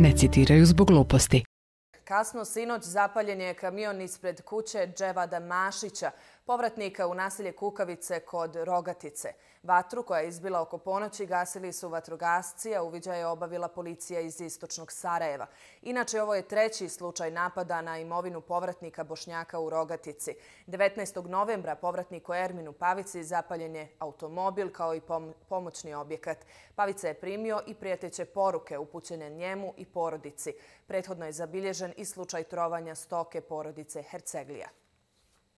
ne citiraju zbog gluposti. Kasno sinoć zapaljen je kamion ispred kuće Dževada Mašića, povratnika u naselje Kukavice kod Rogatice. Vatru koja je izbila oko ponoći gasili su vatrogasci, a uviđaj je obavila policija iz istočnog Sarajeva. Inače, ovo je treći slučaj napada na imovinu povratnika Bošnjaka u Rogatici. 19. novembra povratniku Erminu Pavici zapaljen je automobil kao i pomoćni objekat. Pavica je primio i prijeteće poruke upućene njemu i porodici. Prethodno je zabilježen i slučaj trovanja stoke porodice Herceglija.